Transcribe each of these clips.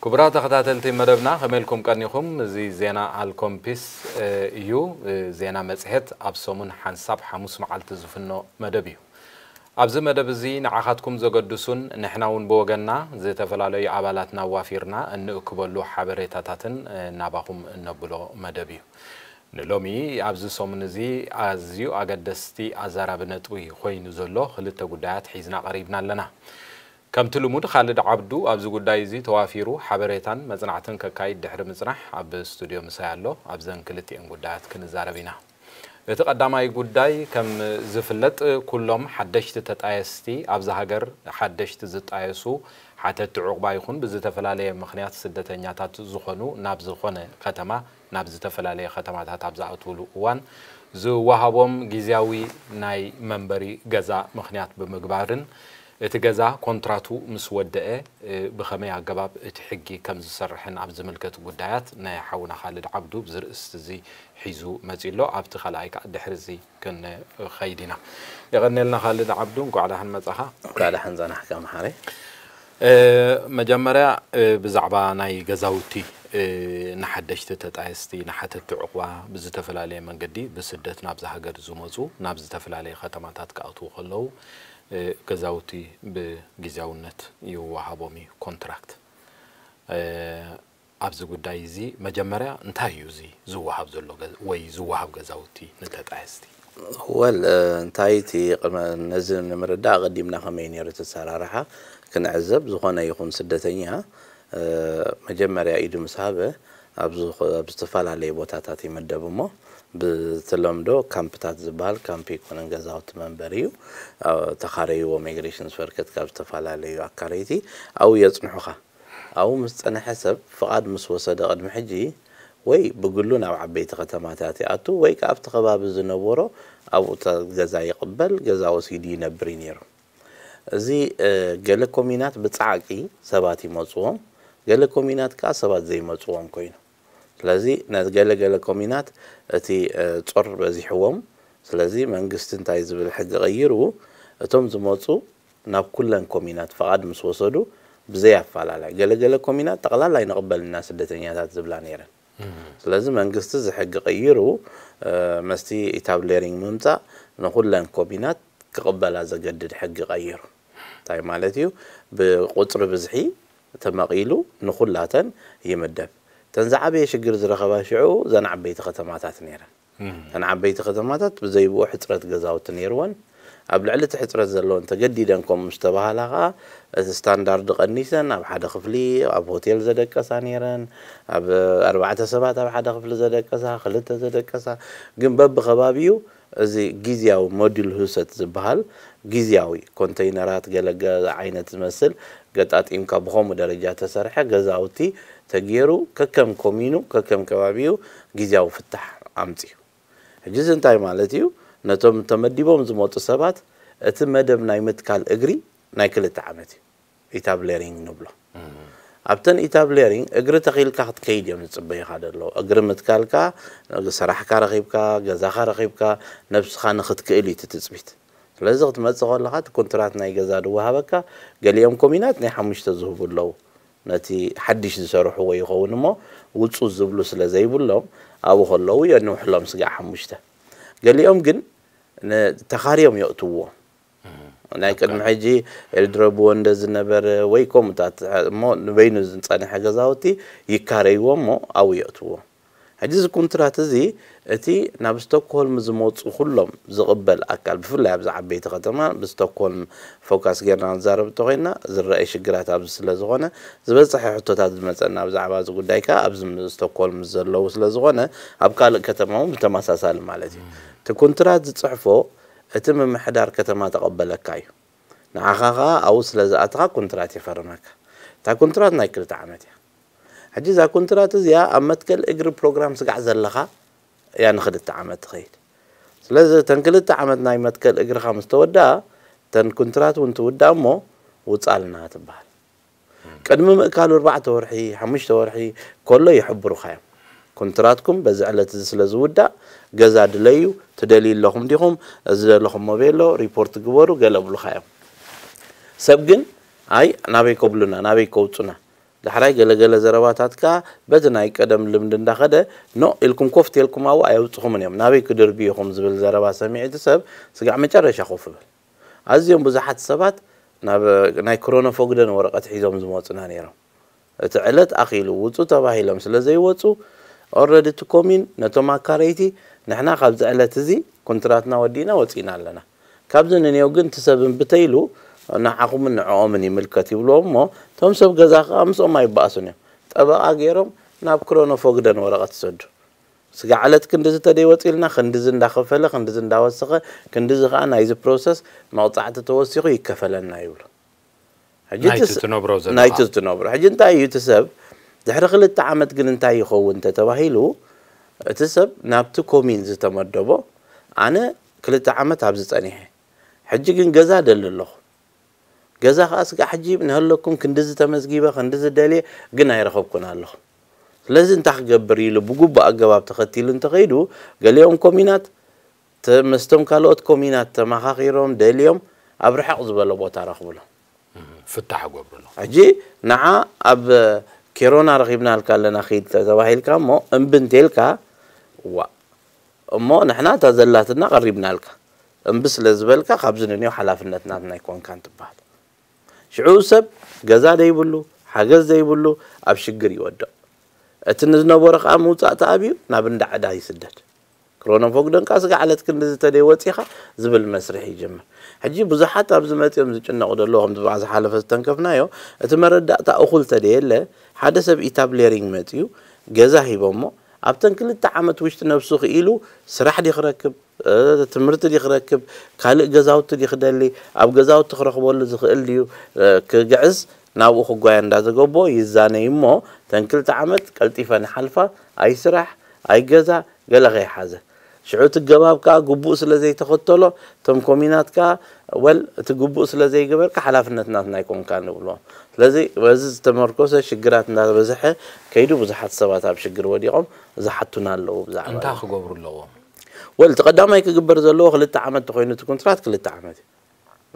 ክቡራት ተኸታተልቲ መደብና፣ ከመይ ኢልኩም ቀኒኹም? እዚ ዜና ኣልኮምፒስ፣ እ፣ እዩ። እ፣ ዜና መጽሔት ኣብ ሰሙን ሓንሳብ ሓሙስ መዓልቲ ዝፍኖ መደብ እዩ። ኣብዚ መደብ እዚ ንዓኻትኩም ዘገድሱን ንሕና እውን ብወገንና ዝተፈላለዩ ኣባላትና ዋፊርና እንእክበሉ ሓበሬታታትን፣ እ፣ ናባኹም እነብሎ መደብ እዩ። ንሎሚ ኣብዚ ሰሙን እዚ ኣዝዩ ኣገደስቲ ኣዛራቢ ነጥቢ ኮይኑ ዘሎ ክልተ ጉዳያት ሒዝና ቀሪብና ኣለና። ከምቲ ልሙድ፣ ካልድ ዓብዱ ኣብዚ ጉዳይ እዚ ተዋፊሩ ሓበሬታን መጽናዕትን ከካይድ ድሕሪ ምጽናሕ ኣብ ስቱድዮ ምሳይ ኣሎ። ኣብዘን ክልቲኤን ጉዳያት ክንዛረብ ኢና። እቲ ቀዳማይ ጉዳይ፣ ከም ዝፍለጥ፣ ኩሎም ሓደሽቲ ተጣየስቲ፣ ኣብዛ ሃገር ሓደሽቲ ዝጣየሱ ሓተቲ ዑቕባ ይኹን ብዝተፈላለየ ምኽንያት ስደተኛታት ዝኾኑ ናብ ዝኾነ ከተማ፣ ናብ ዝተፈላለየ ከተማታት ኣብ ዝኣትውሉ እዋን ዝወሃቦም ግዝያዊ ናይ መንበሪ ገዛ ምኽንያት ብምግባርን እቲ ገዛ ኮንትራቱ ምስ ወደአ፣ እ፣ ብኸመይ ኣገባብ እቲ ሕጊ ከም ዝሰርሕን ኣብ ዝምልከት ጉዳያት ናይ ሓውና ካልድ ዓብዱ ብዚ ርእስቲ እዚ ሒዙ መጺኡ ኣሎ። ኣብቲ ካልኣይ ከኣ ድሕሪ እዚ ክንኸይድ ኢና። የቐንየልና ካልድ ዓብዱ፣ እንኳዕ ደሓን መጻኻ። እንኳዕ ደሓን ጸናሕካ መሓሪ። እ፣ መጀመርያ፣ እ፣ ብዛዕባ ናይ ገዛውቲ፣ እ፣ ንሓደሽቲ ተጣየስቲ፣ ንሓተቲ ዑቕባ ብዝተፈላለየ መንገዲ ብስደት ናብዚ ሃገር ዝመጹ፣ ናብ ዝተፈላለየ ከተማታት ክኣትዉ ከለዉ፣ እ፣ ገዛውቲ ብግዝያውነት ይወሃቦም እዩ፣ ኮንትራክት። እ፣ ኣብዚ ጉዳይ እዚ መጀመርያ እንታይ እዩ እዚ ዝወሃብ ዘሎ ገ-፣ ወይ ዝወሃብ ገዛውቲ ንተጣየስቲ? ወል፣ እ፣ እንታይ እቲ ቅድመ-፣ ነዚ ንምርዳእ ኣቐዲምና ከመይ ነይሩ እቲ ኣሰራርሓ ክንዕዘብ፣ ዝኾነ ይኹን ስደተኛ፣ እ፣ መጀመርያ ኢዱ ምስ ሃበ ኣብ ዝኸ-፣ ኣብ ዝተፈላለየ ቦታታት ይምደብ እሞ፣ ብተለምዶ ካምፕታት ዝበሃል፣ ካምፕ ኣይኮነን፣ ገዛውቲ መንበሪ እዩ። እ፣ ተኻረይዎ፣ ማይግሬሽን ወርከት ካብ ዝተፈላለዩ ኣካረይቲ ኣብኡ የጽንሑኻ። ኣብኡ ምስ ጸንሐ ሰብ ፍቓድ ምስ ወሰደ ቅድሚ ሕጂ ወይ ብግሉ ናብ ዓበይቲ ከተማታት ይኣቱ ወይ ከኣ ኣብቲ ከባቢ ዝነበሮ ኣብኡ ተ-፣ ገዛ ይቕበል፣ ገዛ ወሲዱ ይነብር እዩ ነይሩ። እዚ፣ እ፣ ገለ ኮሚናት ብጻዕቂ ሰባት ይመጽዎም፣ ገለ ኮሚናት ከኣ ሰባት ዘይመጽዎም ኮይኑ። ስለዚ ነዚ ገለ ገለ ኮሚናት እቲ፣ እ፣ ጾር በዚሕዎም። ስለዚ መንግስቲ እንታይ ዝብል ሕጊ ቀይሩ፣ እቶም ዝመጹ ናብ ኩለን ኮሚናት ፍቓድ ምስ ወሰዱ ብዘይ ኣፋላላይ፣ ገለ ገለ ኮሚናት ጠቕላላ ኣይንቕበልን ኢና ስደተኛታት ዝብላ ነይረን። ስለዚ መንግስቲ እዚ ሕጊ ቀይሩ፣ እ፣ መስቲ ኢታብሌሪንግ ምምጻእ ንኹለን ኮሚናት ክቕበላ ዘገድድ ሕጊ ቀይሩ። እንታይ ማለት እዩ? ብቁጽሪ ብዝሒ ተመቒሉ ንኹላተን ይምደብ። እተን ዝዓበየ ሽግር ዝረኸባ ሽዑ እዘን ዓበይቲ ከተማታት ነይረን። እተን ዓበይቲ ከተማታት ብዘይብኡ ሕጽረት ገዛውቲ ነይርወን። ኣብ ልዕሊ እቲ ሕጽረት ዘለወን ተገዲደን ከምኡ ምስ ተባህላ ኸኣ፣ እቲ ስታንዳርድ ቀኒሰን ኣብ ሓደ ክፍሊ፣ ኣብ ሆቴል ዘደቀሳ ነይረን፣ ኣብ ኣርባዕተ ሰባት ኣብ ሓደ ክፍሊ ዘደቀሳ፣ ክልተ ዘደቀሳ፣ ግን በብኸባቢኡ እዚ ግዝያዊ ሞዲል ህውሰት ዝበሃል ግዝያዊ ኮንተይነራት ገለ ገ-፣ ዓይነት ዝመስል ገጣጢምካ ብኸምኡ ደረጃ ተሰርሐ ገዛውቲ ተገይሩ ከከም ኮሚኑ ከከም ከባቢኡ ግዝያዊ ፍታሕ ኣምጽኡ። ሕጂ እዚ እንታይ ማለት እዩ? ነቶም ተመዲቦም ዝመጡ ሰባት እቲ መደብ ናይ ምትካል እግሪ ናይ ክልተ ዓመት እዩ። ኢታብሌሪንግ ንብሎ። ኣብተን ኢታብሌሪንግ እግሪ ተኺልካ ክትከይድ እዮም ዝጽበዩኻ ዘለዉ። እግሪ ምትካልካ፣ ስራሕካ ረኺብካ፣ ገዛኻ ረኺብካ፣ ነብስኻ ንኽትክእል እዩ እቲ ትጽቢት። ስለዚ ክትመጽእ ከለኻ እቲ ኮንትራት ናይ ገዛ ዝወሃበካ፣ ገሊኦም ኮሚናት ናይ ሓሙሽተ ዝህቡ ኣለዉ። ነቲ ሓድሽ ዝሰርሕዎ ይኸውን እሞ፣ ውጹ ዝብሉ ስለ ዘይብሎም፣ ኣብኡ ከለዉ የንውሕሎም ስጋዕ ሓሙሽተ። ገሊኦም ግን ን-፣ ተኻርዮም የእትውዎ። ናይ ቅድሚ ሕጂ ኤልድረብዎ እንደ ዝነበረ ወይ ከምኡታት እሞ ንበይኑ ዝጸንሐ ገዛውቲ ይካረይዎ እሞ ኣብኡ የእትዎ። ሕጂ እዚ ኩንትራት እዚ እቲ ናብ ስቶክሆልም ዝመጹ ኩሎም ዝቕበል ኣካል፣ ብፍላይ ኣብዚ ዓበይቲ ከተማ ብስቶክሆልም ፎካስ ጌርና ንዛረብ እንተኾይና ዝረኣይ ሽግራት ኣብዚ ስለ ዝኾነ ዝበጽሐ ሕቶታት ዝመጸና ብዛዕባ እዚ ጉዳይ ከኣ ኣብዚ ም-፣ ስቶክሆልም ዘለዉ ስለ ዝኾነ ኣብ ካልእ ከተማ እውን ብተመሳሳሊ ማለት እዩ። እቲ ኩንትራት ዝጽሕፎ እቲ ምምሕዳር ከተማ ተቐበለካ እዩ። ንዓኻ ኸኣ ኣብኡ ስለ ዝኣተኻ ኩንትራት ይፈርመካ። እታ ኩንትራት ናይ ክልተ ዓመት እያ። ሕጂ እዛ ኩንትራት እዚኣ ኣብ መትከል እግሪ ፕሮግራም ስጋዕ ዘለኻ እያ ንክልተ ዓመት ትኸይድ። ስለዚ እተን ክልተ ዓመት ናይ መትከል እግርኻ ምስ ተወድኣ፣ እተን ኩንትራት እውን ትውዳእ እሞ ውጻልና ትበሃል። ቅድሚ ምእካሉ ኣርባዕተ ወርሒ፣ ሓሙሽተ ወርሒ ከሎ ይሕብሩኻ እዮም። ኮንትራትኩም በዚ ዕለት እዚ ስለ ዝውዳእ፣ ገዛ ድለዩ፣ ትደልዩ ኣለኹም ዲኹም፣ እዚ ዘለኹሞ ቤሎ ሪፖርት ግበሩ፣ ገለ ብሉኻ እዮም። ሰብ ግን፣ ኣይ፣ ናበይ ከብሉና፣ ናበይ ከውጹና? ዳሕራይ ገለገለ ዘረባታት ከኣ በቲ ናይ ቀደም ልምዲ እንዳኸደ፣ ኖ ኢልኩም ኮፍ ተልኩም ኣብኡ ኣየውጽኹምን እዮም፣ ናበይ ክድርቢ ኢኹም ዝብል ዘረባ ሰሚዑ እቲ ሰብ ስጋዕ መጨረሻ ኮፍ ይብል። ኣዝዮም ብዙሓት ሰባት ናብ ናይ ክሮኖፎግደን ወረቐት ሒዞም ዝመጹና ነይሮም። እቲ ዕለት ኣኺሉ ውጹ ተባሂሎም ስለ ዘይወጹ፣ ኦረዲ እቲ ኮሚን ነቶም ኣካረይቲ፣ ንሕና ካብዚ ዕለት እዚ ኮንትራትና ወዲእና ወጺእና ኣለና፣ ካብዚ ንኔው ግን እቲ ሰብ እምቢ ተይሉ ንዓኹምን ንዕኦምን ይምልከት ይብልዎም እሞ፣ እቶም ሰብ ገዛ ከኣ ምስኦም ኣይበኣሱን እዮም። ጠበቓ ገይሮም ናብ ክሮኖፎግደን ወረቐት ይሰዱ። ስጋዕ ዕለት ክንድዚ ተደይወፂልና፣ ክንድዚ እንዳኸፈለ፣ ክንድዚ እንዳወሰኸ፣ ክንድዚ ከኣ ናይዚ ፕሮሰስ መቕፃዕቲ ተወሲኹ ይከፈለና ይብሉ። ሕጂ እቲ ናይቲ ስ- ትነብሮ ዘለኻ። ናይቲ ትነብሮ። ሕጂ እንታይ እዩ እቲ ሰብ ድሕሪ ክልተ ዓመት ግን እንታይ ይኸውን እንተተባሂሉ፣ እቲ ሰብ ናብቲ ኮሚን ዝተመደቦ፣ ኣነ ክልተ ዓመት ኣብዚ ጸኒሐ፣ ሕጂ ግን ገዛ ደሊ ኣለኹ፣ ገዛ ከኣ ስጋዕ ሕጂ ንሀለኩም ክንድዚ ተመዝጊበ፣ ክንድዚ ደልየ ግን ኣይረኸብኩን ኣለኹ፣ ስለዚ እንታይ ክገብር ኢሉ ብግቡእ ኣገባብ ተኸቲሉ እንተኸይዱ፣ ገሊኦም ኮሚናት ተ- ምስቶም ካልኦት ኮሚናት ተመኻኺሮም ደልዮም ኣብ ርሕቕ ዝበለ ቦታ ረኽብሎም። ፍታሕ ገብርሎ። ሕጂ ንዓ ኣብ ኬሮና ረኺብናልካ ኣለና ኺድ ተባሂልካ እሞ እምቢ እንተልካ፣ ዋ እሞ ንሕና እታ ዘላትና ቀሪብናልካ፣ እምቢ ስለ ዝበልካ ካብዚ ንኔው ሓላፍነት ናትና ኣይኮንካን ትበሃል። ሽዑ ሰብ ገዛ ዘይብሉ፣ ሓገዝ ዘይብሉ ኣብ ሽግር ይወድቕ። እቲ ንዝነበሮ ከኣ ምውጻእ ተኣብዩ ናብ እንዳ ዕዳ ይስደድ። ክሮኖፎግደን ከኣ ስጋዕ ዕለት ክንድዚ ተደይ ወጺኻ ዝብል መስርሕ ይጅምር። ሕጂ ብዙሓት ኣብዚ መጺኦም ዝጭነቑ ዘለዉ ከምቲ ብኣ ዝሓለፈ ዝተንከፍናዮ፣ እቲ መረዳእታ እኹል ተደየለ ሓደ ሰብ ኢታብሌሪንግ መጺኡ ገዛ ሂቦሞ ኣብተን ክልተ ዓመት ውሽጢ ነብሱ ክኢሉ ስራሕ ድዩ ክረክብ፣ ትምህርቲ ድዩ ክረክብ፣ ካልእ ገዛውቲ ድዩ ክደሊ፣ ኣብ ገዛውቲ ክረኽበሉ ዝኽእል ድዩ ክግዕዝ ናብኡ ክጓየ እንዳዘገቦ ይዛነይ እሞ፣ ተን ክልተ ዓመት ቀልጢፈን ይሓልፋ፣ ኣይስራሕ ኣይገዛ ገለ ከይሓዘ። ሽዑ እቲ ገባብ ከኣ ግቡእ ስለ ዘይተኸተሎ፣ እቶም ኮሚናት ከኣ ወል እቲ ግቡእ ስለ ዘይገበርካ ሓላፍነት ናትና ኣይኮንካን ንብልዎም። ስለዚ በዚ ዝተመርኮሰ ሽግራት እንዳበዝሐ ከይዱ ብዙሓት ሰባት ኣብ ሽግር ወዲቖም ዝሓቱና ኣለዉ ብዛዕባ እንታይ ክገብሩ ኣለዎም? ወል እቲ ቀዳማይ ክግበር ዘለዎ ክልተ ዓመት ተኾይኑ እቲ ኩንትራት ክልተ ዓመት እዩ።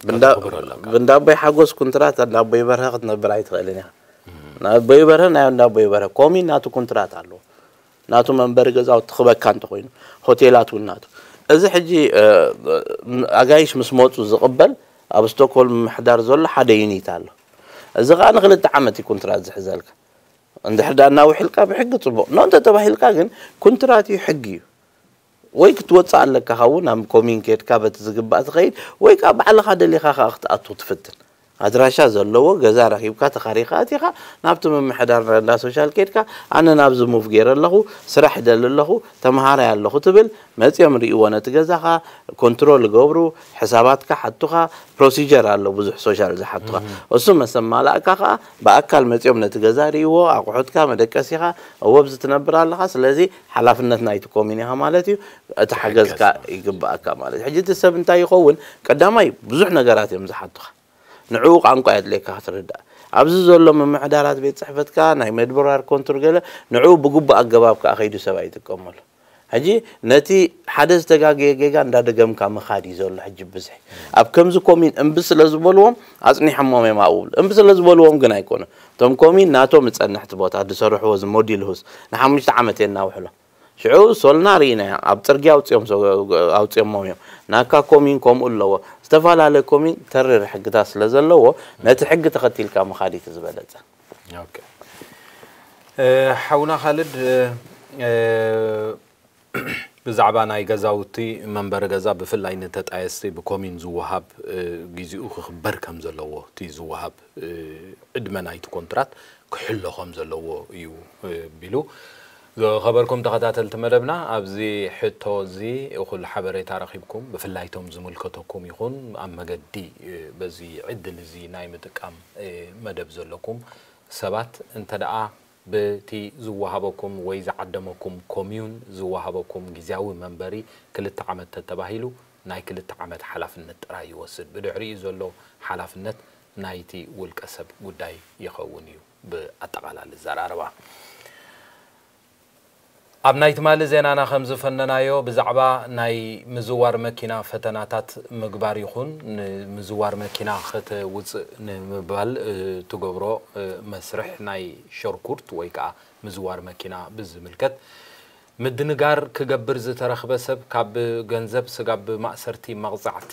ብንዳ- ክብር ኣለካ። ብንዳቦይ ሓጎስ ኩንትራት እንዳቦይ በርሀ ክትነብር ኣይትኽእልን ኢኻ። ናቦይ በርሀ ናይ እንዳቦይ በርሀ ኮሚን ናቱ ኩንትራት ኣለዎ። ናቱ መንበሪ ገዛውቲ ክበካ እንተኾይኑ ሆቴላት እውን ናቱ። እዚ ሕጂ እ፣ ኣጋይሽ ምስ መፁ ዝቕበል ኣብ ስቶክሆልም ምሕዳር ዘሎ ሓደ ዩኒት ኣሎ። እዚ ከዓ ንክልተ ዓመት እዩ ኩንትራት ዝሕዘልካ። እንድሕር ዳ እናውሕልካ ብሕጊ ፅቡቕ ኖ እንተተባሂልካ ግን ኩንትራት እዩ፣ ሕጊ እዩ። ወይ ክትወፅእ ኣለካ ካብኡ ናብ ኮሚን ኬድካ በቲ ዝግባእ ትኸይድ፣ ወይ ከዓ ባዕልኻ ደሊኻ ከዓ ክትኣቱ ትፍትን። ኣድራሻ ዘለዎ ገዛ ረኺብካ ተኻሪኻ ኣቲኻ ናብቲ ምምሕዳር እንዳ ሶሻል ኬድካ ኣነ ናብዚ ሙቭ ገይረ ኣለኹ፣ ስራሕ ይደሊ ኣለኹ፣ ተምሃራይ ኣለኹ ትብል። መፂኦም ርእይዎ ነቲ ገዛኻ፣ ኮንትሮል ይገብሩ፣ ሕሳባትካ ሓቱኻ። ፕሮሲጀር ኣሎ ብዙሕ ሶሻል ዝሓቱኻ። እሱ መሰማላእካ ከዓ ብኣካል መፂኦም ነቲ ገዛ ርእይዎ፣ ኣቑሑትካ፣ መደቀሲኻ፣ እወ ኣብዚ ትነብር ኣለኻ፣ ስለዚ ሓላፍነት ናይቲ ኮሚን ኢኻ ማለት እዩ፣ እቲ ሓገዝካ ይግባኣካ ማለት እዩ። ሕጂ እቲ ሰብ እንታይ ይኸውን? ቀዳማይ ብዙሕ ነገራት እዮም ዝሓቱኻ። ንዕኡ ቋንቋ የድልየካ ክትርዳእ። ኣብዚ ዘሎ ምምሕዳራት ቤት ፅሕፈትካ ናይ መድበራር ኮንትር ገለ ንዕኡ ብግቡእ ኣገባብ ከዓ ከይዱ ሰብ ኣይጥቀመሉ። ሕጂ ነቲ ሓደ ዝተጋገየ ጌጋ እንዳደገምካ ምኻድ እዩ ዘሎ። ሕጂ ብዝሒ ኣብ ከምዚ ኮሚን እምቢ ስለ ዝበልዎም ኣፅኒሖሞም እዮም ኣብኡ ብሎ። እምቢ ስለ ዝበልዎም ግን ኣይኮነ። እቶም ኮሚን ናቶም ዝፀንሕ እቲ ቦታ ዝሰርሕዎ እዚ ሞዲል ሁስ ንሓሙሽተ ዓመት የናውሕሎ። ሽዑ ሶልና ርኢና ኣብ ፅርግያ ኣውፅኦም ኣውፅኦሞም እዮም። ናካ ኮሚን ከምኡ ኣለዎ። ዝተፈላለየ ኮሚን ተሪር ሕግታት ስለ ዘለዎ ነቲ ሕጊ ተኸቲልካ ምኻድ እዩ ዝበለፀ። ሓውና ካልድ ብዛዕባ ናይ ገዛውቲ መንበሪ ገዛ ብፍላይ ንተጣየስቲ ብኮሚን ዝወሃብ ግዜኡ ክኽበር ከም ዘለዎ እቲ ዝወሃብ ዕድመ ናይቲ ኮንትራት ክሕሎ ከም ዘለዎ እዩ ቢሉ። ዝኸበርኩም ተኸታተልቲ መደብና ኣብዚ ሕቶ እዚ እኹል ሓበሬታ ረኺብኩም ብፍላይ ቶም ዝምልከተኩም ይኹን ኣብ መገዲ በዚ ዕድል እዚ ናይ ምጥቃም መደብ ዘለኩም ሰባት እንተ ደኣ ብቲ ዝወሃበኩም ወይ ዝዓደመኩም ኮምዩን ዝወሃበኩም ግዝያዊ መንበሪ ክልተ ዓመት ተተባሂሉ ናይ ክልተ ዓመት ሓላፍነት ጥራይ ይወስድ። ብድሕሪኡ ዘሎ ሓላፍነት ናይቲ ውልቀ ሰብ ጉዳይ ይኸውን እዩ። ብኣጠቓላሊ ዘራርባ ኣብ ናይ ትማሊ ዜናና ከም ዝፈነናዮ፣ ብዛዕባ ናይ ምዝዋር መኪና ፈተናታት ምግባር ይኹን ንምዝዋር መኪና ከተውፅእ ንምባል እትገብሮ መስርሕ ናይ ሸርኩርት ወይ ከዓ ምዝዋር መኪና ብዝምልከት ምድንጋር ክገብር ዝተረኽበ ሰብ ካብ ገንዘብ ስጋብ ማእሰርቲ መቕፃዕቲ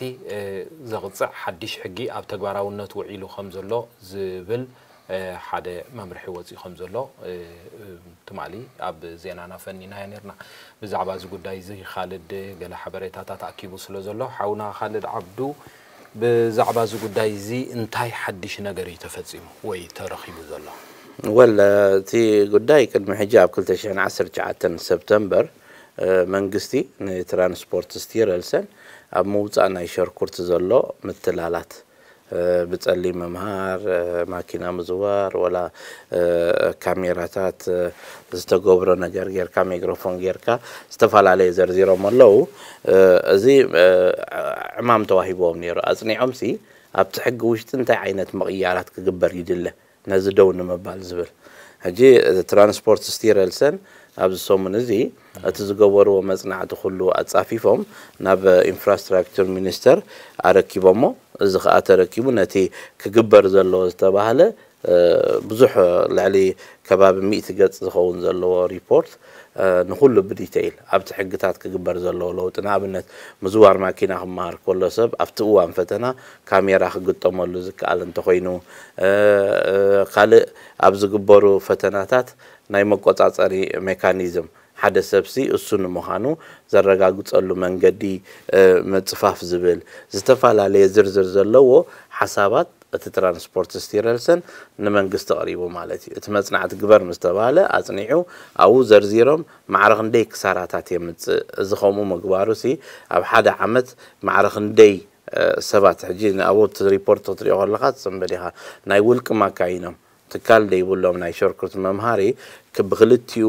ዘቕፅዕ ሓድሽ ሕጊ ኣብ ተግባራውነት ውዒሉ ከም ዘሎ ዝብል ሓደ መምርሒ ወፂኡ ከም ዘሎ ትማሊ ኣብ ዜናና ፈኒናዮ ነርና። ብዛዕባ እዚ ጉዳይ እዚ ካልድ ገለ ሓበሬታታት ኣኪቡ ስለ ዘሎ ሓውና ካልድ ዓብዱ ብዛዕባ እዚ ጉዳይ እዚ እንታይ ሓድሽ ነገር እዩ ተፈጺሙ ወይ ተረኺቡ ዘሎ? ወል እቲ ጉዳይ ቅድሚ ሕጂ ኣብ ክልተ ሽሕን ዓሰርተ ትሽዓተን ሰፕተምበር መንግስቲ ንትራንስፖርት ስቲረልሰን ኣብ ምውፃእ ናይ ሸርኩርት ዘሎ ምትላላት ብጸሊም ምምሃር፣ ማኪና ምዝዋር፣ ወላ ካሜራታት ዝተገብሮ ነገር ጌርካ፣ ማይክሮፎን ጌርካ፣ ዝተፈላለየ ዘርዚሮም ኣለዉ። እዚ ዕማም ተዋሂብዎም ነይሩ። ኣጽኒዖምሲ ኣብቲ ሕጊ ውሽጢ እንታይ ዓይነት ምቕያራት ክግበር ይድለ ነዚ ደው ንምባል ዝብል። ሕጂ ትራንስፖርት ስቲረልሰን ኣብዚ ሰሙን እዚ እቲ ዝገበርዎ መጽናዕቲ ኩሉ ኣጻፊፎም ናብ ኢንፍራስትራክቸር ሚኒስተር ኣረኪቦሞ። እዚ ከኣ ተረኪቡ ነቲ ክግበር ዘለዎ ዝተባህለ ብዙሕ ልዕሊ ከባቢ ሚእቲ ገጽ ዝኸውን ዘለዎ ሪፖርት ንኹሉ ብዲተይል ኣብቲ ሕግታት ክግበር ዘለዎ ለውጢ፣ ንኣብነት ምዝዋር ማኪና ክመሃር ከሎ ሰብ ኣብቲ እዋን ፈተና ካሜራ ክግጠመሉ ዝከኣል እንተኾይኑ፣ ካልእ ኣብ ዝግበሩ ፈተናታት ናይ መቆጻጸሪ ሜካኒዝም ሓደ ሰብሲ እሱ ንምዃኑ ዘረጋግጸሉ መንገዲ ምጽፋፍ ዝብል ዝተፈላለየ ዝርዝር ዘለዎ ሓሳባት እቲ ትራንስፖርት ስቲረልሰን ንመንግስቲ ቀሪቡ ማለት እዩ። እቲ መጽናዕቲ ግበር ምስ ተባህለ ኣጽኒዑ ኣብኡ ዘርዚሮም ማዕረ ክንደይ ክሳራታት የምጽእ። እዚ ከምኡ ምግባሩ ሲ ኣብ ሓደ ዓመት ማዕረ ክንደይ ሰባት ሕጂ ኣብኡ እቲ ሪፖርት ክትሪኦ ከለኻ ትጽንበል ኢኻ። ናይ ውልቂ ማካይኖም ትካል ደይብሎም ናይ ሸርኩርት መምሃሪ ብክልቲኡ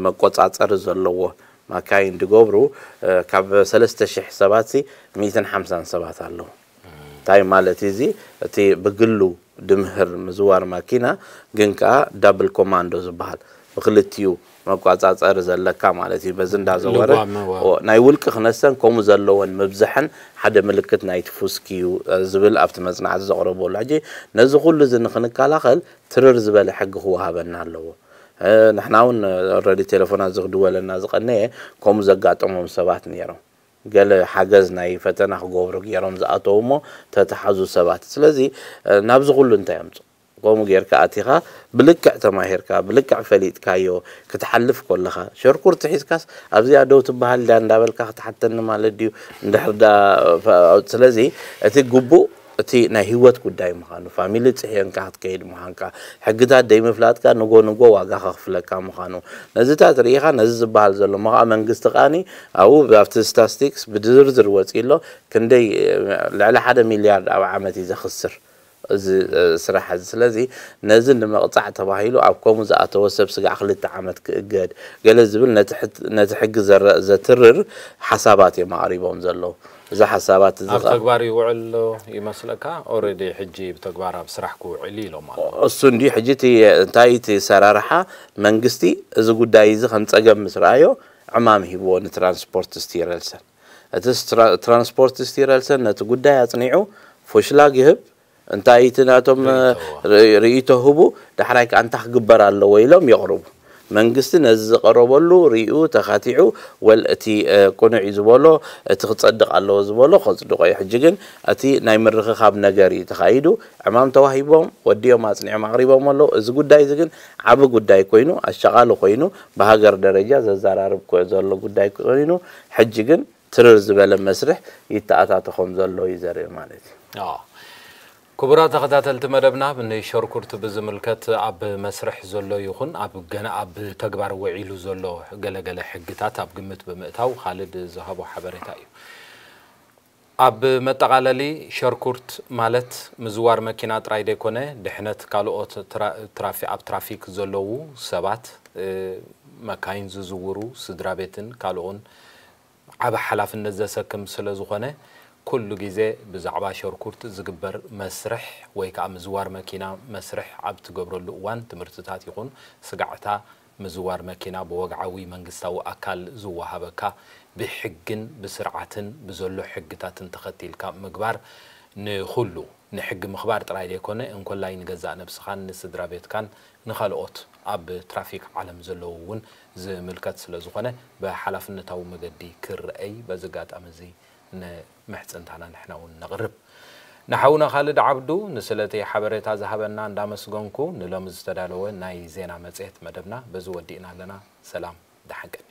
መቆጻጸሪ ዘለዎ ማካይን ድገብሩ ካብ ሰለስተ ሽሕ ሰባት ሲ ሚእትን ሓምሳን ሰባት ኣለዉ። እንታይ ማለት እዚ እቲ ብግሉ ድምህር ምዝዋር ማኪና ግን ከኣ ዳብል ኮማንዶ ዝበሃል ብክልቲኡ መቋጻጸሪ ዘለካ ማለት እዩ። በዚ እንዳዘወረ ናይ ውልቂ ክነሰን ከምኡ ዘለወን ምብዛሕን ሓደ ምልክት ናይቲ ፉስክ እዩ ዝብል ኣብቲ መጽናዕቲ ዘቕረበሉ። ሕጂ ነዚ ኩሉ እዚ ንክንከላኸል ትርር ዝበለ ሕጊ ክወሃበና ኣለዎ። ንሕና እውን ረዲ ቴሌፎናት ዝክድወለና ዝቐነየ ከምኡ ዘጋጠሞም ሰባት ነይሮም። ገለ ሓገዝ ናይ ፈተና ክገብሩ ገይሮም ዝኣተዉ እሞ ተተሓዙ ሰባት። ስለዚ ናብዚ ኩሉ እንታይ ኣምፅእ? ከምኡ ጌርካ ኣቲኻ ብልክዕ ተማሂርካ ብልክዕ ፈሊጥካዮ ክትሓልፍ ከለኻ ሸርኩርቲ ሒዝካስ ኣብዚኣ ደው ትበሃል ድያ እንዳበልካ ክትሓተኒ ማለት ድዩ? እንድሕር ዳ ስለዚ እቲ ግቡእ እቲ ናይ ህይወት ጉዳይ ምዃኑ ፋሚሊ ፅሒንካ ክትከይድ ምዃንካ ሕግታት ደይምፍላጥካ ንጎ ንጎ ዋጋ ከኽፍለካ ምዃኑ ነዚታት ርኢኻ ነዚ ዝበሃል ዘሎ እሞ ከዓ መንግስቲ ከዓኒ ኣብኡ ኣብቲ ስታስቲክስ ብዝርዝር ወፂ ኣሎ ክንደይ ልዕሊ ሓደ ሚልያርድ ኣብ ዓመት እዩ ዘኽስር እዚ ስራሕ እዚ። ስለዚ ነዚ ንምቕፃዕ ተባሂሉ ኣብ ከምኡ ዝኣተወ ሰብ ስጋዕ ክልተ ዓመት ክእገድ ገለ ዝብል ነቲ ሕጊ ዘትርር ሓሳባት እዮም ኣቕሪቦም ዘለዉ። እዚ ሓሳባት እዚ ኣብ ተግባር ይውዕል ኣሎ ይመስለካ? ኦረዲ ሕጂ ብተግባር ኣብ ስራሕ ክውዕል ኢሎም ኣለዉ። እሱ እንዲ ሕጂ እቲ እንታይ እቲ ሰራርሓ መንግስቲ እዚ ጉዳይ እዚ ከም ፀገም ምስ ረኣዮ ዕማም ሂብዎ ንትራንስፖርት ስቲረልሰን። እቲ ትራንስፖርት ስቲረልሰን ነቲ ጉዳይ ኣፅኒዑ ፎሽላግ ይህብ እንታይ እቲ ናቶም ርእይቶ ህቡ ዳሕራይ ከዓ እንታይ ክግበር ኣለዎ ኢሎም የቕርቡ። መንግስቲ ነዚ ዝቐረበሉ ርእዩ ተኻቲዑ ወል እቲ ቅኑዕ እዩ ዝበሎ እቲ ክፀድቕ ኣለዎ ዝበሎ ከፅድቆ እዩ። ሕጂ ግን እቲ ናይ ምርኽኻብ ነገር እዩ ተኻይዱ። ዕማም ተዋሂቦም ወዲኦም ኣፅኒዖም ኣቕሪቦም ኣለዉ። እዚ ጉዳይ እዚ ግን ዓቢ ጉዳይ ኮይኑ ኣሻቓሊ ኮይኑ ብሃገር ደረጃ ዘዘራርብ ዘሎ ጉዳይ ኮይኑ ሕጂ ግን ትርር ዝበለ መስርሕ ይተኣታቶ ከም ዘሎ እዩ ዘርኢ ማለት እዩ። ክቡራት ተኸታተልቲ መደብና ንሸርኩርት ብዝምልከት ኣብ መስርሕ ዘሎ ይኹን ኣብ ገና ኣብ ተግባር ውዒሉ ዘሎ ገለገለ ሕግታት ኣብ ግምት ብምእታው ካልድ ዝሃቦ ሓበሬታ እዩ። ኣብ መጠቓለሊ ሸርኩርት ማለት ምዝዋር መኪና ጥራይ ደይኮነ ድሕነት ካልኦት ኣብ ትራፊክ ዘለዉ ሰባት መካይን ዝዝውሩ ስድራ ቤትን ካልኦን ዓቢ ሓላፍነት ዘሰክም ስለ ዝኾነ ኩሉ ግዜ ብዛዕባ ሸርኩርት ዝግበር መስርሕ ወይ ከዓ ምዝዋር መኪና መስርሕ ኣብ ትገብረሉ እዋን ትምህርትታት ይኹን ስጋዕታ ምዝዋር መኪና ብወግዓዊ መንግስታዊ ኣካል ዝወሃበካ፣ ብሕግን ብስርዓትን ብዘሎ ሕግታትን ተኸቲልካ ምግባር፣ ንኹሉ ንሕጊ ምኽባር ጥራይ ዘይኮነ፣ እንኮላይ ንገዛእ ነብስኻን ንስድራ ቤትካን ንኻልኦት ኣብ ትራፊክ ዓለም ዘለዉ እውን ዝምልከት ስለ ዝኾነ፣ ብሓላፍነታዊ መገዲ ክረኣይ በዚ ኣጋጣሚ እዚ ንምሕጽንታና ንሕና እውን ነቕርብ። ንሓውና ካልድ ዓብዱ ንስለቲ ሓበሬታ ዝሃበና እንዳመስገንኩ፣ ንሎሚ ዝተዳለወ ናይ ዜና መጽሔት መደብና በዚ ወዲእና ኣለና። ሰላም፣ ደሓን ቀኒ።